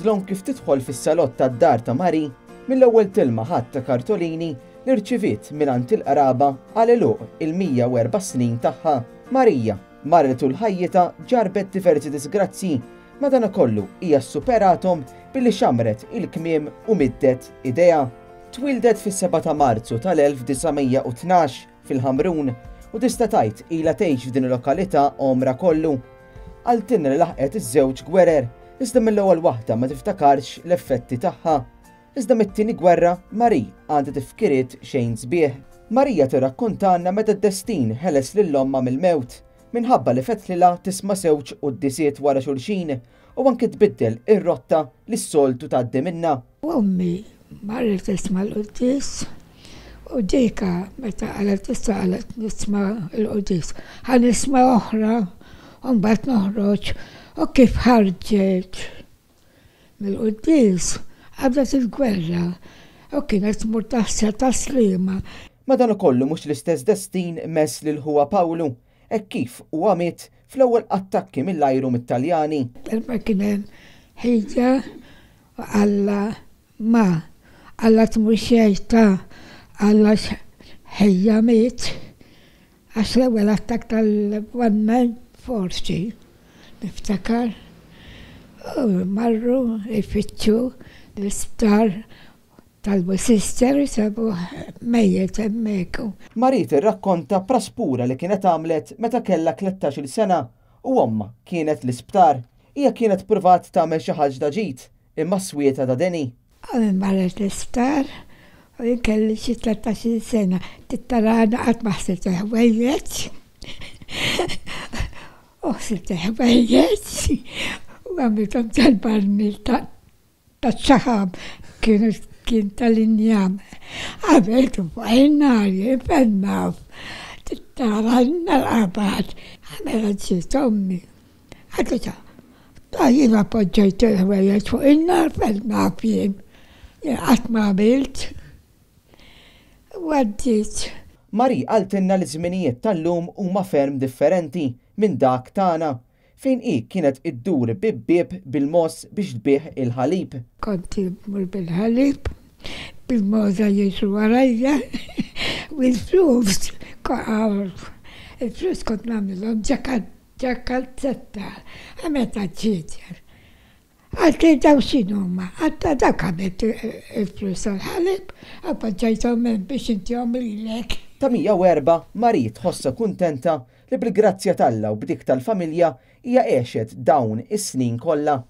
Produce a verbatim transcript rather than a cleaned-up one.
Dlonk kif tidħol fis-salott tad-dar ta' Marie, mill-ewwel tilmaħ għadd ta' kartolini li rċiviet mingħand il-qraba għal għeluq il-mija u erba' snin tagħha. Marija, mara li tul ħajjitha ġarbet diversi disgrazzji, madankollu hija ssuperathom billi xamret il-kmiem u middet idejha. Twieldet fis-sebgħa ta' Marzu tal-elf disa' mija u tnax fil-Ħamrun u tista' tgħid ilha tgħix f'din il-lokalità għomra kollu. Qaltilna li laħqet iż-żewġ gwerer, iżda mill-ewwel waħda ma tiftakarx l-effetti tagħha. Iżda mit-tieni gwerra, Marie għandha tifkiriet xejn sbieħ. Marija tirrakkontanna meta d-destin ħeles lil ommha mill-mewt, minħabba li fetlilha tisma' żewġ quddisiet wara xulxin u anke tbiddel ir-rotta li s-soltu tgħaddi minnha. Ommi marret tisma' l-quddies u dika meta qalet issa qalet nisma' l-quddies. Ħa nisma' oħra u mbagħad noħroġ u kif ħarġet mill-quddies qabdet il-gwerra u kienet tmur taħsel tas-Sliema. Madankollu mhux l-istess destin mess lil ħuha Pawlu, hekk kif huwa miet fl-ewwel attakki mill-ajru mit-Taljani. Darba kien hemm ħija u qalla ma, qalla tmur xejn ta' qalla ħija miet għax l-ewwel attakk tal-one man forsi niftakar u marru jfittxu l-isptar talbu sister sabu mejjet hemmhekk. Marie tirrakkonta praspura li kienet għamlet meta kellha tlettax-il sena u ommha kienet l-isptar. Hija kienet pruvat tagħmel xi ħaġa ġid imma swieta ta' deni. Ommi marret l-isptar u jien kelli xi tlettax-il sena. Tittarana qatt ma ħsibt il-ħwejjeġ. U ħsibt il-ħwejjeġ u għamilthom tal-barmil taċ-ċaħam kienu kien tal-injam. Għamiltu fuq in-nar, jien fejn naf. Tittara n-nar qabad. Għamela ġiet ommi. Għadita, ta' jien appoġġajt il-ħwejjeġ fuq in-nar fejn naf jien. Jien qatt ma għamilt. U għaddiet. Marie qaltilna li żminijiet tal-lum huma ferm differenti minn dak tagħna, fejn hi kienet iddur bib-bieb bil-mos biex tbih il-ħalib. Kont immur bil-ħalib, bil-moza jiġu warajja, u l-flus, il-flus kont nagħmilhom ġa kalzetta, meta ġiet. Għalti daw x'inhuma, għatta dak għamilt il-flus tal-ħalib, appoġġajthom hemm biex intihom lilek. Ta' mija u erba' Marie tħossha kuntenta li bil-grazzja t'Alla u b'dik tal-familja hija għexet dawn is-snin kollha.